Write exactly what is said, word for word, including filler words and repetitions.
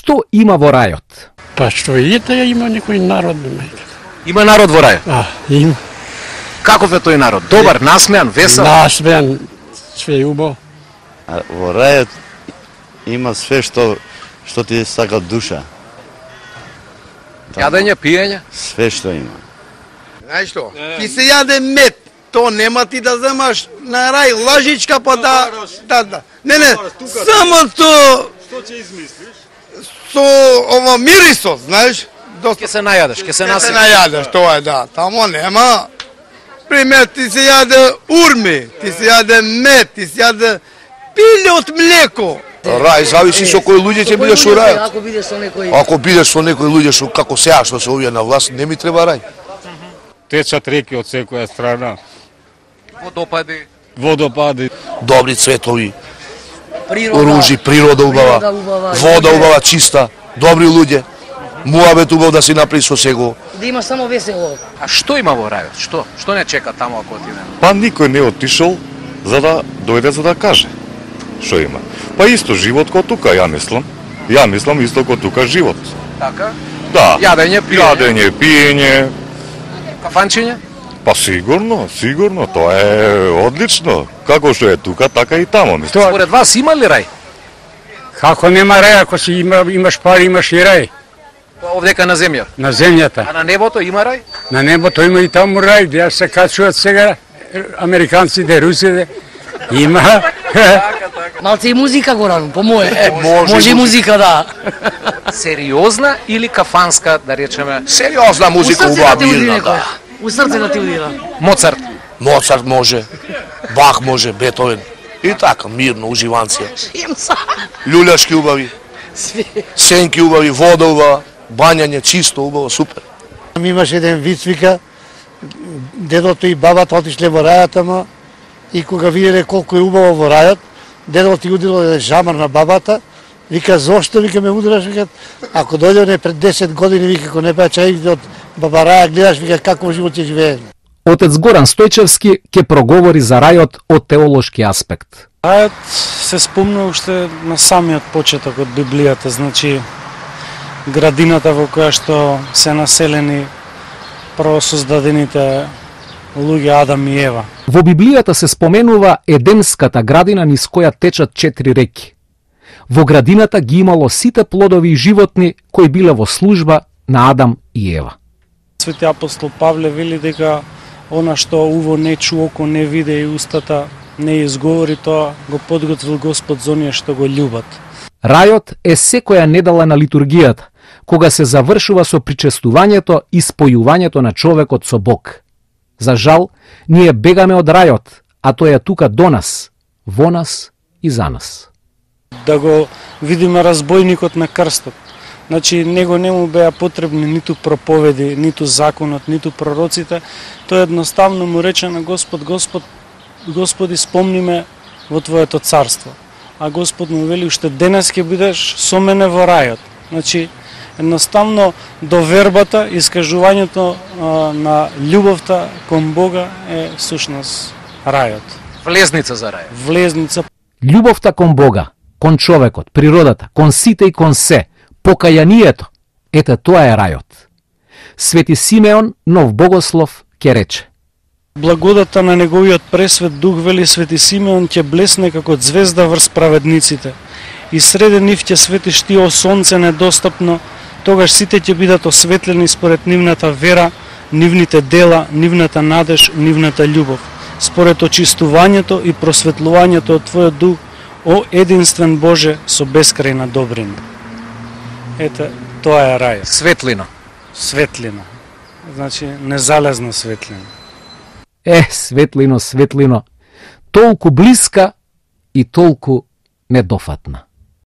Што има во рајот? Па што ете, има некој народ. Има народ во рајот? А, има. Каков е тој народ? Добар, насмеан, весел? Насмеан, све убаво. А во рајот има све што што ти сака душа. Јадење, пиење? Све што има. Знаеш што? Ти се јаде мед. То нема ти да земаш на рај лажичка па да... да, да. Не, не, само то... Што ќе измислиш? Со ова мирисот, знаеш? Ке се најадеш, ке се Ке се насипеш. најадеш, тоа е, да. Тамо нема... Пример, ти се јаде урми, ти се јаде мед, ти се јаде пиле од млеко. Рај зависи со кои луѓе ќе бидеш со рај. Ако бидеш со некој... Ако бидеш со некои луѓе што како сега што се овие на власт, не ми треба рај. Течат реки од секоја страна. Водопади. Водопади. Добри цветови, Природа. оружи, природа убава, Природа убава, вода луѓе. убава чиста, добри луѓе. Муабет убав да си направи со него. Да има само весело. А што има во рајот? Што? Што не чека таму ако отидеме? Па никој не отишол за да дојде за да каже што има. Па исто живот ко тука, ја мислам. Ја мислам исто ко тука живот. Така? Да. Јадење, пиење. Јадење, пиење. Кафанчиња? Па сигурно, сигурно, тоа е одлично. Како што е тука, така и тамо, мислам. Според вас има ли рај? Како нема рај, ако си има, имаш пари, имаш и рај. Овдека на земја. На земјата. А на небото има рај? На небото има и таму рај, ја се качуваат сега американците, русите. Има. Малце и музика го рано, по мое. Е, може Може и музика, да. Сериозна или кафанска, да речеме? Сериозна У музика срце убава да ти уди мирна, некој. да. У срце да ти удира. Моцарт. Моцарт може, Бах може, Бетовен. И така, мирно, уживанција. Шемца. Љуљашки убави, сенки убави, вода убава, бањање чисто убаво, супер. Имаше еден виц, вика, дедото и бабата отишле во рајот, ама и кога виделе колку е убаво во рајот, дедото ти удирал еден жамар на бабата, вика, зошто, вика, ме удраш, вика, ако дојде пред десет години, вика, ако не беа чаите од баба Раја, гледаш, вика, какво живот ќе живее. Отец Горан Стојчевски ќе проговори за рајот од теолошки аспект. Рајот се спомна уште на самиот почеток од Библијата, значи градината во која што се населени првосоздадените луѓе Адам и Ева. Во Библијата се споменува Едемската градина низ која течат четири реки. Во градината ги имало сите плодови и животни кои биле во служба на Адам и Ева. Свети апостол Павле вели дека она што уво не чу, око не виде и устата не изговори, тоа го подготвил Господ за оние што го љубат. Рајот е секоја недела на литургијата, кога се завршува со причестувањето и спојувањето на човекот со Бог. За жал, ние бегаме од рајот, а тој е тука до нас, во нас и за нас. Да го видиме разбойникот на крстот. Значи, него не му беа потребни ниту проповеди, ниту законот, ниту пророците. Тој едноставно му рече на Господ, Господ, Господи, спомни ме во Твоето царство. А Господ му вели, уште денес ќе бидеш со мене во рајот. Значи, едноставно довербата, искажувањето а, на љубовта кон Бога е всушност рајот. Влезница за рај. Влезница. Љубовта кон Бога, кон човекот, природата, кон сите и кон се, покајанието, ете тоа е рајот. Свети Симеон, нов богослов, ќе рече: Благодата на неговиот пресвет дух, вели Свети Симеон, ќе блесне како звезда врз праведниците. И среде нив ќе свети штио сонце недостапно, тогаш сите ќе бидат осветлени според нивната вера, нивните дела, нивната надеж, нивната љубов, според очистувањето и просветлувањето од Твојот дух, о единствен Боже со бескрајна добрина. Ете, тоа е рај. Светлина. Светлина. Значи, незалезна светлина. Е, светлино, светлино, толку блиска и толку недофатна.